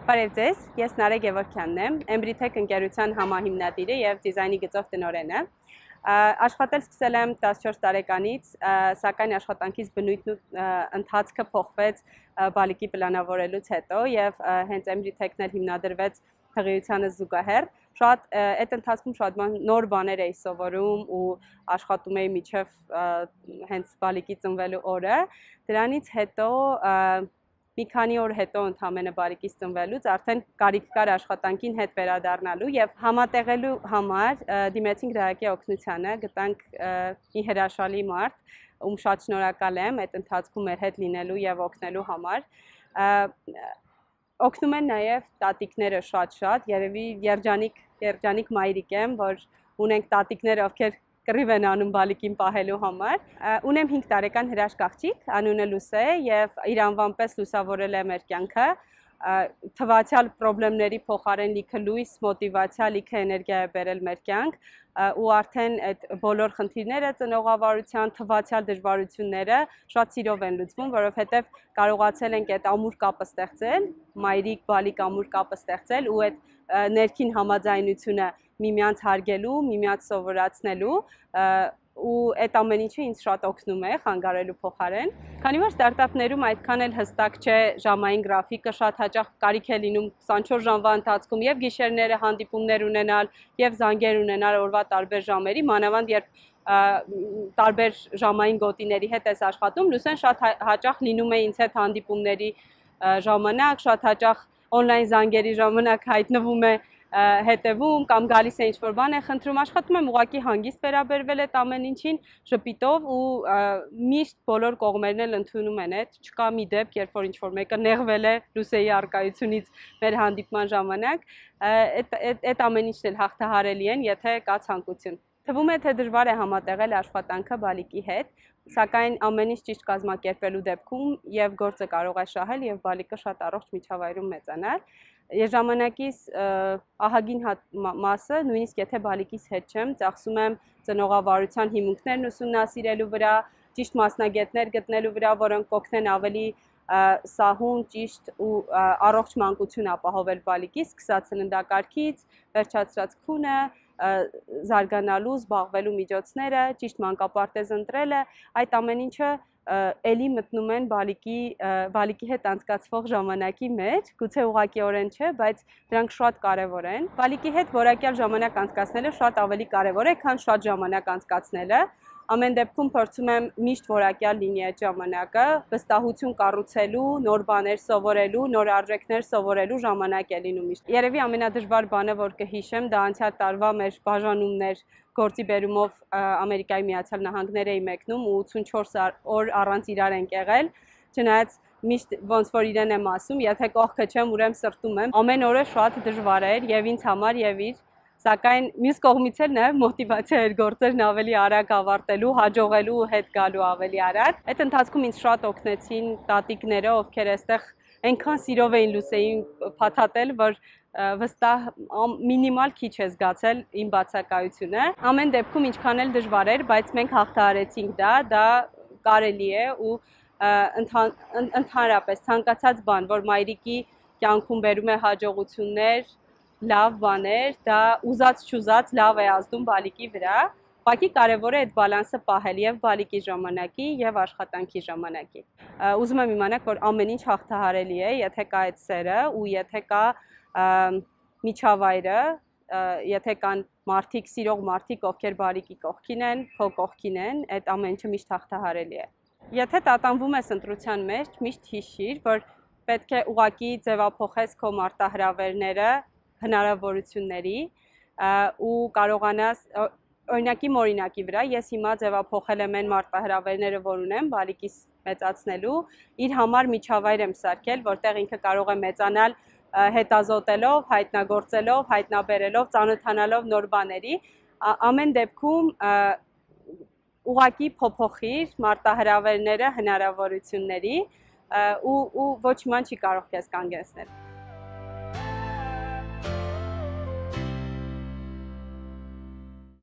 Բարև ձեզ, ես Նարեկ Գևորգյանն եմ, Embrytech ընկերության համահիմնադիրը և դիզայնի գծով տնօրենը։ Աշխատել սկսել եմ 14 տարեկանից, սակայն աշխատանքիս բնույթն ու ընթացքը փոխվեց բալիկի պլանավորելուց հետո և հենց Embrytech-ն էլ հիմնադրվեց հղիությանը զուգահեռ։ Այդ ընթացքում շատ նոր բաներ էի սովորում ու աշխատում էի մինչև հենց բալիկի ծնվելու օրը։ Դրանից հետո մի քանի օր հետո ընդամենը բալիկիս ծնվելուց արդեն կարիք կար աշխատանքին հետ վերադառնալու եւ համատեղելու համար դիմեցինք Ռայակի օգնությանը, գտանք մի հրաշալի մարդ, ում շատ շնորհակալ եմ այդ ընթացքում մեր հետ լինելու եւ օգնելու համար։ Օգնում են նաեւ տատիկները շատ, երևի երջանիկ մայրիկ եմ, որ ունենք տատիկներ, ովքեր կռիվ են անում բալիկին պահելու համար։ Ունեմ 5 տարեկան հրաշք աղջիկ, անունը Լուսե է եւ իր անվան պես լուսավորել է մեր կյանքը։ Թվացյալ խնդիրների փոխարեն լիքը լույս, մոտիվացիա, լիքը էներգիա է բերել մեր կյանք ու արդեն այդ բոլոր խնդիրները ծնողավարության, թվացյալ դժվարությունները շատ սիրով են լուծվում, որովհետեւ կարողացել ենք այդ ամուր կապը ստեղծել, մայրիկ-բալիկ ամուր կապը ստեղծել ու այդ ներքին համաձայնությունը միմյանց հարգելու, միմյանց սովորացնելու ու այդ ամեն ինչը ինձ շատ օգնում է խանգարելու փոխարեն։ Քանի որ ստարտափներում այդքան էլ հստակ չէ ժամային գրաֆիկը, շատ հաճախ կարիք է լինում 24 ժամվա ընթացքում եւ գիշերները հանդիպումներ ունենալ եւ զանգեր ունենալ օրվա տարբեր ժամերի, մանավանդ երբ տարբեր ժամային գոտիների հետ ես աշխատում, Լուսեն շատ հաճախ լինում է ինձ հետ հանդիպումների ժամանակ, շատ հաճախ օնլայն զանգերի ժամանակ հայտնվում է հետևում կամ գալիս է ինչ-որ բան է խնդրում, աշխատում եմ ուղղակի հանգիստ վերաբերվել այդ ամեն ինչին շփիտով ու միշտ բոլոր կողմերն էլ ընդունում են այդ, չկա մի դեպք, երբ որ ինչ-որ մեկը նեղվել է Լուսեի առկայությունից մեր հանդիպման ժամանակ, այդ ամեն ինչն էլ հաղթահարելի են, եթե կա ցանկություն։ Թվում է, թե դժվար է համատեղել աշխատանքը բալիկի հետ, սակայն ամեն ինչ ճիշտ կազմակերպելու դեպքում եւ գործը կարող է շահել եւ բալիկը շատ առողջ միջավայրում մեծանալ։ Ժամանակիս ահագին մասը, նույնիսկ եթե բալիկիս հետ չեմ, ծախսում եմ ծնողավարության հիմունքներն ուսումնասիրելու վրա, ճիշտ մասնագետներ գտնելու վրա, որոնք կօգնեն ավելի սահուն, ճիշտ ու առողջ մանկություն ապահովել բալիկի, սկսած սննդակարգից, վերջացրած քունը, զարգանալու, զբաղվելու միջոցները, ճիշտ մանկապարտեզ ընտրելը, այդ ամեն ինչը էլի մտնում են բալիկի հետ անցկացվող ժամանակի մեջ, գուցե ուղղակիորեն չէ, բայց դրանք շատ կարևոր են։ Բալիկի հետ որակյալ ժամանակ անցկացնելը շատ ավելի կարևոր է, քան շատ ժամանակ անցկացնելը։ Ամեն դեպքում փորձում եմ միշտ որակյալ լինի այդ ժամանակը, վստահություն կառուցելու, նոր բաներ սովորելու, նոր արժեքներ սովորելու ժամանակ է լինում միշտ։ Երևի ամենադժվար բանը, որ կհիշեմ, դա անցյալ տարվա մեր բաժանումներ գործի բերումով Ամերիկայի Միացյալ Նահանգներ էի մեկնում ու 84 օր առանց իրար ենք եղել, չնայած միշտ ոնց որ իրեն եմ ասում, եթե կողքը չեմ, ուրեմն սրտում եմ։ Ամեն օրը շատ դժվար էր եւ ինձ համար եւ իր, սակայն մյուս կողմից էլ նաեւ մոտիվացիա էր գործերն ավելի արագ ավարտելու, հաջողելու, հետ գալու ավելի արագ։ Այդ ընթացքում ինձ շատ օգնեցին տատիկները, ովքեր այստեղ այնքան սիրով էին Լուսեին փաթաթել, որ վստահ մինիմալ քիչ է զգացել իմ բացակայությունը։ Ամեն դեպքում ինչքան էլ դժվար էր, բայց մենք հաղթահարեցինք դա կարելի է ու ընդհանրապես ցանկացած բան, որ մայրիկի կյանքում բերում է հաջողություններ, լավ բաներ, դա ուզած-չուզած լավ է ազդում բալիկի վրա։ Ուղղակի կարևոր է այդ բալանսը պահել եւ բալիկի ժամանակի եւ աշխատանքի ժամանակի։ Ուզում եմ իմանաք, որ ամեն ինչ հաղթահարելի է, եթե կա այդ սերը ու եթե կա միջավայրը, եթե կան մարդիկ, սիրող մարդիկ, ովքեր բալիկի կողքին են, քո կողքին են, այդ ամեն ինչը միշտ հաղթահարելի է։ Եթե տատանվում ես ընտրության մեջ, միշտ հիշիր, որ պետք է ուղղակի ձևափոխես քո մարտահրավերները հնարավորությունների ու կարողանաս օրինակի վրա ես հիմա ձևափոխել եմ այն մարտահրավերները, որ ունեմ բալիկիս մեծացնելու, իր համար միջավայր եմ սարքել, որտեղ ինքը կարող է մեծանալ հետազոտելով, հայտնագործելով, հայտնաբերելով, ծանոթանալով նոր բաների, ամեն դեպքում ուղղակի փոփոխիր մարտահրավերները հնարավորությունների ու ոչ մի բան չի կարող քեզ կանգնեցնել։